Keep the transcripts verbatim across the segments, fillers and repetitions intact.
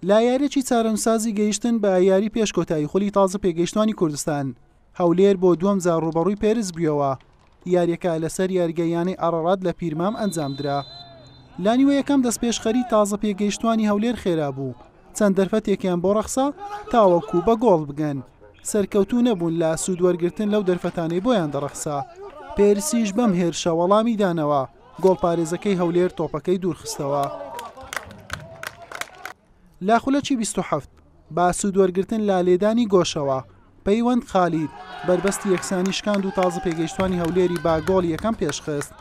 لە یاریەکی چارەنووسسازی گەیشتن بە یاری پێش کۆتایی خولی تازە پێگەیشتوانی کوردستان، هەولێر بۆ دووەم جار ڕووبەڕووی پێرس بوویەوە. یاریەکە لەسەر یاریگەی یانەی ئارارات لە پیرمام ئەنجامدرا. لە نیوە یەکەم دەستپێشخەری تازە پێگەیشتوانی هەولێر خێرا بوو، چەند دەرفەتێکیان بۆ ڕەخسا تاوەکو بە گۆڵ بگەن. سەرکەوتوو نەبوون لە سوودوەرگرتن لەو دەرفەتانەی بۆیان دەڕەخسا. پێرسیش بەم هێرشە وەڵامی دانەوە، گۆڵپارێزەکەی هەولێر تۆپەکەی دوورخستەوە. لە خولەکی بیست و حەفت با سوودوەرگرتن لە لێدانی گۆشەوە، پەیوەند خالید بەربەستی یەکسانی شکاند و تازە پێگەیشتوانی هەولێری با گۆڵ یەکەم پێشخست.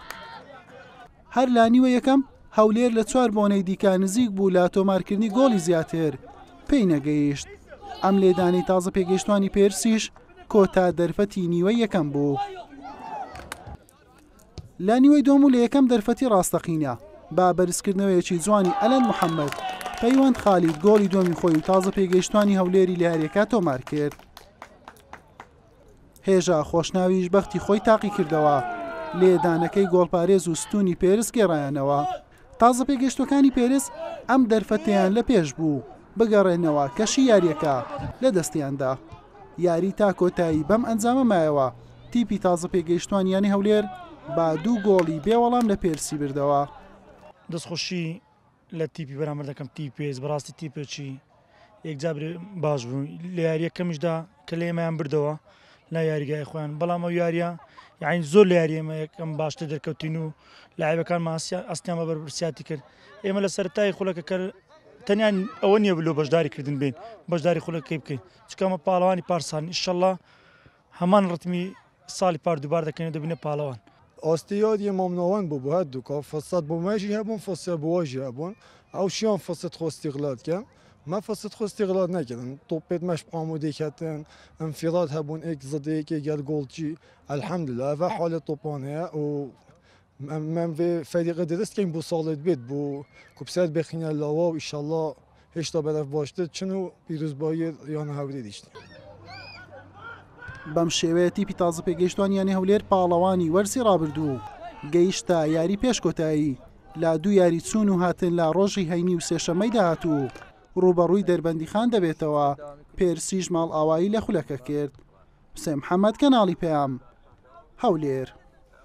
هەر لە نیوە یەکەم هەولێر لە چوار بۆنەی دیکە نزیک بوو لە تۆمارکردنی گۆڵی زیاتر، پێی نەگەیشت. ئەم لێدانی تازە پێگەیشتوانی پێرسیش کۆتا دەرفەتی نیوەی یەکەم بوو. لە نیوەی دووەم و لە یەکەم دەرفەتی ڕاستەقینە با بەرزکردنەوەیەکی جوانی ئەلەند محەممەد، پەیوەند خالید گۆڵی دووەمی خۆی و تازە پێگەیشتوانی هەولێری لە یاریەکە تۆمار کرد. هێژا خۆشناویش بەختی خۆی تاقی کردەوە، لێدانەکەی گۆڵپارێز و ستونی پێرس گێڕایانەوە. تازە پێگەیشتوەکانی پێرس ئەم دەرفەتەیان لە پێش بوو بگەڕێنەوە کەشی یاریەکە لە دەستیاندا. یاری تا کۆتایی بەم ئەنجامە مایەوە، تیپی تازە پێگەیشتوان یانەی هەولێر با دوو گۆڵی بێوەڵام لە پێرسی بردەوە. دەستخۆشی لە تیپی بەرامبەر دەکەم، تیپی پێرس بەڕاستی تیپێکی یەکجار باش بوو. لە یاریەکەمیشدا کە لە ئێمەیان بردەوە لە یاریگای خۆیان، بەڵام ئەو یاریە یعنی زۆر لە یاری ئێمە یەکەم باشتر دەرکەوتین و لاعیبەکانمان ئەستیان بە بەرپرسیاتی کرد. ئێمە لە سەرەتای خولەکەکە تەنیا ئەوە نییە بلۆ بەشداریکردن بین، بەشداری خولەکەی بکەین، چونکە ئەمە پاڵەوانی پارسان ئینشەڵڵا هەمان ڕتمی ساڵی پار دووبار دەکەین و دەبینە پاڵەوان. ئاستیادی مامناوەند بوو بۆ هەردوو کا، فرسەت بۆ مەژی هەبوون، فرسەت بۆ واژی هەبوون. ئەو شیان فرسەت خۆ استیغلال کەن، ما فرسەت خۆ استیغلال نەکردن. تۆپێت مەش ئامادەی کردن، انفراد هەبوون ئێک زدەیەکێ گەل گۆڵچی. الحمدلله ئەڤ حالە تۆپان هەیە و من vê فەریقە درست کەین بۆ ساڵت بێت بۆ کوپسەر بخینە لاوە و ئینشەڵڵا هێشتا بەرەف باشتر چن و پیرۆزبایی یانە هەولێر دیشتن. بەم شێوەیە تیپی تازە پێگەیشتوان یانەی هەولێر پاڵەوانی وەرزی ڕابردوو گەیشتە یاری پێش کۆتایی لە دوو یاری چوون و هاتن لە ڕۆژی هەینی و سێشەممەی داهاتوو ڕووبەڕووی دەربەندیخان دەبێتەوە. پێرسیش ماڵئاوایی لە خولەکە کرد. حوسێن محەممەد، کەناڵی پەیام، هەولێر.